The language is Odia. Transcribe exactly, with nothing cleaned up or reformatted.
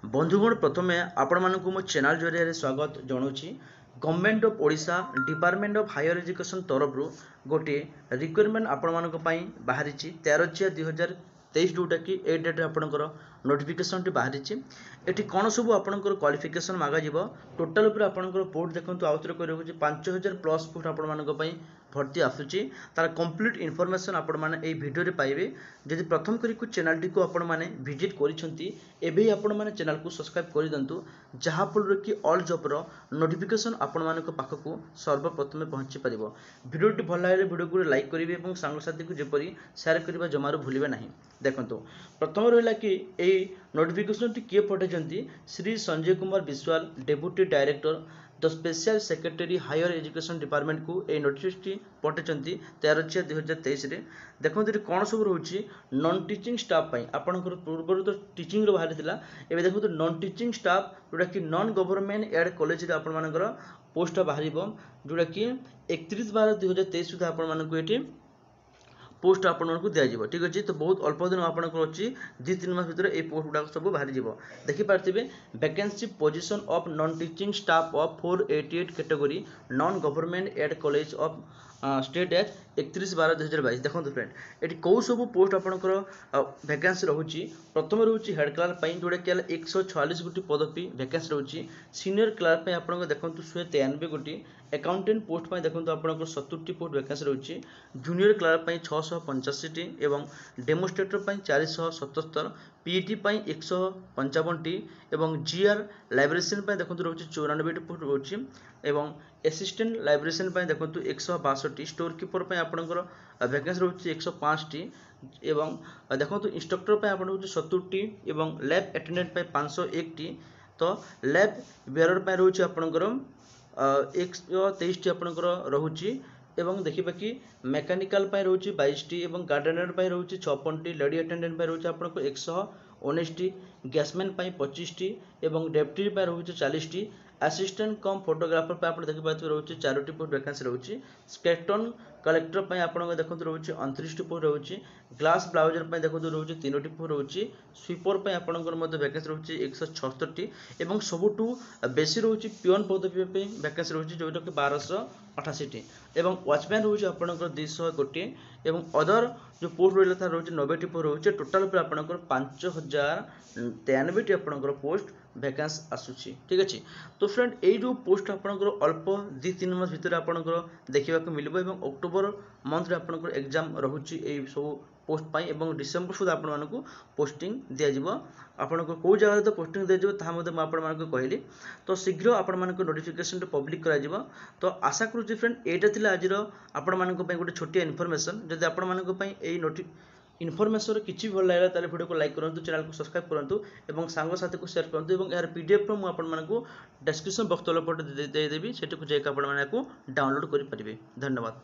ବନ୍ଧୁଗଣ ପ୍ରଥମେ ଆପଣମାନଙ୍କୁ ମୋ ଚ୍ୟାନେଲ୍ ଜରିଆରେ ସ୍ୱାଗତ ଜଣାଉଛି Government of Odisha Department of Higher Education ତରଫରୁ ଗୋଟିଏ ରିକ୍ରୁଟମେଣ୍ଟ ଆପଣମାନଙ୍କ ପାଇଁ ବାହାରିଛି ତେର ଚାରି ଦୁଇ ହଜାର ତେଇଶ ଯେଉଁଟାକି ଏଇ ଡେଟ୍ରେ ଆପଣଙ୍କର ନୋଟିଫିକେସନ୍ଟି ବାହାରିଛି ଏଠି କ'ଣ ସବୁ ଆପଣଙ୍କର କ୍ୱାଲିଫିକେସନ୍ ମାଗାଯିବ ଟୋଟାଲ୍ ଉପରେ ଆପଣଙ୍କର ପୋଷ୍ଟ ଦେଖନ୍ତୁ ଆଉଥରେ କହି ରଖୁଛି ପାଞ୍ଚ ହଜାର ପ୍ଲସ୍ ପୋଷ୍ଟ ଆପଣମାନଙ୍କ ପାଇଁ ଭର୍ତ୍ତି ଆସୁଛି ତାର କମ୍ପ୍ଲିଟ୍ ଇନଫର୍ମେସନ୍ ଆପଣମାନେ ଏଇ ଭିଡ଼ିଓରେ ପାଇବେ ଯଦି ପ୍ରଥମ କରିକୁ ଚ୍ୟାନେଲଟିକୁ ଆପଣମାନେ ଭିଜିଟ୍ କରିଛନ୍ତି ଏବେ ହିଁ ଆପଣମାନେ ଚ୍ୟାନେଲକୁ ସବସ୍କ୍ରାଇବ୍ କରିଦିଅନ୍ତୁ ଯାହାଫଳରେ କି ଅଲ୍ ଜବ୍ର ନୋଟିଫିକେସନ୍ ଆପଣମାନଙ୍କ ପାଖକୁ ସର୍ବପ୍ରଥମେ ପହଞ୍ଚି ପାରିବ ଭିଡ଼ିଓଟି ଭଲ ଲାଗିଲେ ଭିଡ଼ିଓକୁ ଲାଇକ୍ କରିବେ ଏବଂ ସାଙ୍ଗସାଥିକୁ ଯେପରି ସେୟାର କରିବା ଜମାରୁ ଭୁଲିବେ ନାହିଁ ଦେଖନ୍ତୁ ପ୍ରଥମ ରହିଲା କି ଏଇ ନୋଟିଫିକେସନ୍ଟି କିଏ ପଠାଇଛନ୍ତି Shri Sanjay Kumar Biswal Deputy Director the Special Secretary Higher Education ଡିପାର୍ଟମେଣ୍ଟକୁ ଏଇ ନୋଟିସଟି ପଠାଇଛନ୍ତି ତେର ଚାରି ଦୁଇ ହଜାର ତେଇଶରେ ଦେଖନ୍ତୁ ଏଠି କ'ଣ ସବୁ ରହୁଛି ନନ୍ ଟିଚିଂ ଷ୍ଟାଫ୍ ପାଇଁ ଆପଣଙ୍କର ପୂର୍ବରୁ ତ ଟିଚିଂର ବାହାରିଥିଲା ଏବେ ଦେଖନ୍ତୁ ନନ୍ ଟିଚିଂ ଷ୍ଟାଫ୍ ଯେଉଁଟାକି ନନ୍ ଗଭର୍ଣ୍ଣମେଣ୍ଟ ଏଡ୍ କଲେଜରେ ଆପଣମାନଙ୍କର ପୋଷ୍ଟଟା ବାହାରିବ ଯେଉଁଟାକି ଏକତିରିଶ ବାର ଦୁଇ ହଜାର ତେଇଶ ସୁଦ୍ଧା ଆପଣମାନଙ୍କୁ ଏଠି ପୋଷ୍ଟ ଆପଣମାନଙ୍କୁ ଦିଆଯିବ ଠିକ୍ ଅଛି ତ ବହୁତ ଅଳ୍ପ ଦିନ ଆପଣଙ୍କର ଅଛି ଦୁଇ ତିନି ମାସ ଭିତରେ ଏଇ ପୋଷ୍ଟ ଗୁଡ଼ାକ ସବୁ ବାହାରିଯିବ ଦେଖିପାରୁଥିବେ vacancy position of non teaching staff of four eighty eight category non government aid college of state as ଏକତିରିଶ ବାର ଦୁଇ ହଜାର ବାଇଶ ଦେଖନ୍ତୁ ଫ୍ରେଣ୍ଡ ଏଠି କେଉଁ ସବୁ ପୋଷ୍ଟ ଆପଣଙ୍କର ଭ୍ୟାକେନ୍ସି ରହୁଛି ପ୍ରଥମେ ରହୁଛି ହେଡ଼୍ କ୍ଲାର୍କ ପାଇଁ ଯେଉଁଟାକି ହେଲା ଏକଶହ ଛୟାଳିଶ ଗୋଟି ପଦବୀ ଭ୍ୟାକେନ୍ସି ରହୁଛି ସିନିୟର କ୍ଲାର୍କ ପାଇଁ ଆପଣଙ୍କ ଦେଖନ୍ତୁ ଶହେ ତେୟାନବେ ଗୋଟି ଆକାଉଣ୍ଟାଣ୍ଟ ପୋଷ୍ଟ ପାଇଁ ଦେଖନ୍ତୁ ଆପଣଙ୍କର ସତୁରିଟି ପୋଷ୍ଟ ଭ୍ୟାକେନ୍ସି ରହୁଛି ଜୁନିୟର କ୍ଲାର୍କ ପାଇଁ ଛଅଶହ ପଞ୍ଚାଅଶୀଟି ଏବଂ ଡେମୋଷ୍ଟ୍ରେଟର ପାଇଁ ଚାରିଶହ ସତସ୍ତର ପିଇଟି ପାଇଁ ଏକଶହ ପଞ୍ଚାବନଟି ଏବଂ ଜିଆର୍ ଲାଇବ୍ରେରିଆନ୍ ପାଇଁ ଦେଖନ୍ତୁ ରହୁଛି ଚଉରାନବେଟି ପୋଷ୍ଟ ରହୁଛି ଏବଂ ଆସିଷ୍ଟାଣ୍ଟ ଲାଇବ୍ରେରିଆନ୍ ପାଇଁ ଦେଖନ୍ତୁ ଏକଶହ ବାଷଠି ଷ୍ଟୋର କିପର ପାଇଁ ଆପଣଙ୍କର ଭ୍ୟାକେନ୍ସି ରହୁଛି ଏକଶହ ପାଞ୍ଚଟି ଏବଂ ଦେଖନ୍ତୁ ଇନଷ୍ଟ୍ରକ୍ଟର ପାଇଁ ଆପଣଙ୍କର ରହୁଛି ସତୁରିଟି ଏବଂ ଲ୍ୟାବ୍ ଆଟେଣ୍ଡାଣ୍ଟ ପାଇଁ ପାଞ୍ଚଶହ ଏକଟି ତ ଲ୍ୟାବ୍ ବେୟରର ପାଇଁ ରହୁଛି ଆପଣଙ୍କର ଏକଶହ ତେଇଶଟି ଆପଣଙ୍କର ରହୁଛି ଏବଂ ଦେଖିବା କି ମେକାନିକାଲ ପାଇଁ ରହୁଛି ବାଇଶଟି ଏବଂ ଗାର୍ଡେନର ପାଇଁ ରହୁଛି ଛପନଟି ଲେଡି ଆଟେଣ୍ଡାଣ୍ଟ ପାଇଁ ରହୁଛି ଆପଣଙ୍କୁ ଏକଶହ ଉଣେଇଶଟି ଗ୍ୟାସମ୍ୟାନ୍ ପାଇଁ ପଚିଶଟି ଏବଂ ଡେପ୍ୟୁଟି ପାଇଁ ରହୁଛି ଚାଳିଶଟି ଆସିଷ୍ଟାଣ୍ଟ କମ୍ ଫଟୋଗ୍ରାଫର ପାଇଁ ଆପଣ ଦେଖିପାରୁଥିବେ ରହୁଛି ଚାରୋଟି ପୋଷ୍ଟ ଭ୍ୟାକେନ୍ସି ରହୁଛି ସ୍କେଲେଟନ୍ କଲେକ୍ଟର ପାଇଁ ଆପଣଙ୍କ ଦେଖନ୍ତୁ ରହୁଛି ଅଣତିରିଶଟି ପୋଷ୍ଟ ରହୁଛି ଗ୍ଲାସ୍ ବ୍ଲୋୟର ପାଇଁ ଦେଖନ୍ତୁ ରହୁଛି ତିନୋଟି ପୋଷ୍ଟ ରହୁଛି ସୁଇପର ପାଇଁ ଆପଣଙ୍କର ମଧ୍ୟ ଭ୍ୟାକେନ୍ସି ରହୁଛି ଏକଶହ ଛଅସ୍ତରଟି ଏବଂ ସବୁଠୁ ବେଶୀ ରହୁଛି ପିଅନ ପଦବୀ ପାଇଁ ଭ୍ୟାକେନ୍ସି ରହୁଛି ଯେଉଁଟାକି ବାରଶହ ଅଠାଅଶୀଟି ଏବଂ ୱାଚମ୍ୟାନ୍ ରହୁଛି ଆପଣଙ୍କର ଦୁଇଶହ ଗୋଟିଏ ଏବଂ ଅଦର ଯେଉଁ ପୋଷ୍ଟ ରହିଲା ତାର ରହୁଛି ନବେଟି ପୋଷ୍ଟ ରହୁଛି ଟୋଟାଲ୍ ଉପରେ ଆପଣଙ୍କର ପାଞ୍ଚ ହଜାର ତେୟାନବେଟି ଆପଣଙ୍କର ପୋଷ୍ଟ ଭ୍ୟାକେନ୍ସି ଆସୁଛି ଠିକ୍ ଅଛି ତ ଫ୍ରେଣ୍ଡ ଏଇ ଯେଉଁ ପୋଷ୍ଟ ଆପଣଙ୍କର ଅଳ୍ପ ଦୁଇ ତିନି ମାସ ଭିତରେ ଆପଣଙ୍କର ଦେଖିବାକୁ ମିଳିବ ଏବଂ ଅକ୍ଟୋବର ମନ୍ଥରେ ଆପଣଙ୍କର ଏକ୍ଜାମ୍ ରହୁଛି ଏଇ ସବୁ ପୋଷ୍ଟ ପାଇଁ ଏବଂ ଡିସେମ୍ବର ସୁଦ୍ଧା ଆପଣମାନଙ୍କୁ ପୋଷ୍ଟିଂ ଦିଆଯିବ ଆପଣଙ୍କୁ କେଉଁ ଜାଗାରେ ତ ପୋଷ୍ଟିଂ ଦିଆଯିବ ତାହା ମଧ୍ୟ ମୁଁ ଆପଣମାନଙ୍କୁ କହିଲି ତ ଶୀଘ୍ର ଆପଣମାନଙ୍କ ନୋଟିଫିକେସନ୍ଟା ପବ୍ଲିକ୍ କରାଯିବ ତ ଆଶା କରୁଛି ଫ୍ରେଣ୍ଡ ଏଇଟା ଥିଲା ଆଜିର ଆପଣମାନଙ୍କ ପାଇଁ ଗୋଟେ ଛୋଟିଆ ଇନଫର୍ମେସନ୍ ଯଦି ଆପଣମାନଙ୍କ ପାଇଁ ଏଇ ନୋଟି ଇନଫର୍ମେସନ୍ କିଛି ଭଲ ଲାଗିଲା ତାହେଲେ ଭିଡ଼ିଓକୁ ଲାଇକ୍ କରନ୍ତୁ ଚ୍ୟାନେଲକୁ ସବସ୍କ୍ରାଇବ୍ କରନ୍ତୁ ଏବଂ ସାଙ୍ଗସାଥିକୁ ସେୟାର କରନ୍ତୁ ଏବଂ ଏହାର ପି ଡି ଏଫ୍ ମୁଁ ଆପଣମାନଙ୍କୁ ଡେସ୍କ୍ରିପସନ୍ ବକ୍ସ ତଳ ପଟେ ଦେଇଦେବି ସେଠିକୁ ଯାଇକି ଆପଣମାନେ ଏହାକୁ ଡାଉନଲୋଡ଼ କରିପାରିବେ ଧନ୍ୟବାଦ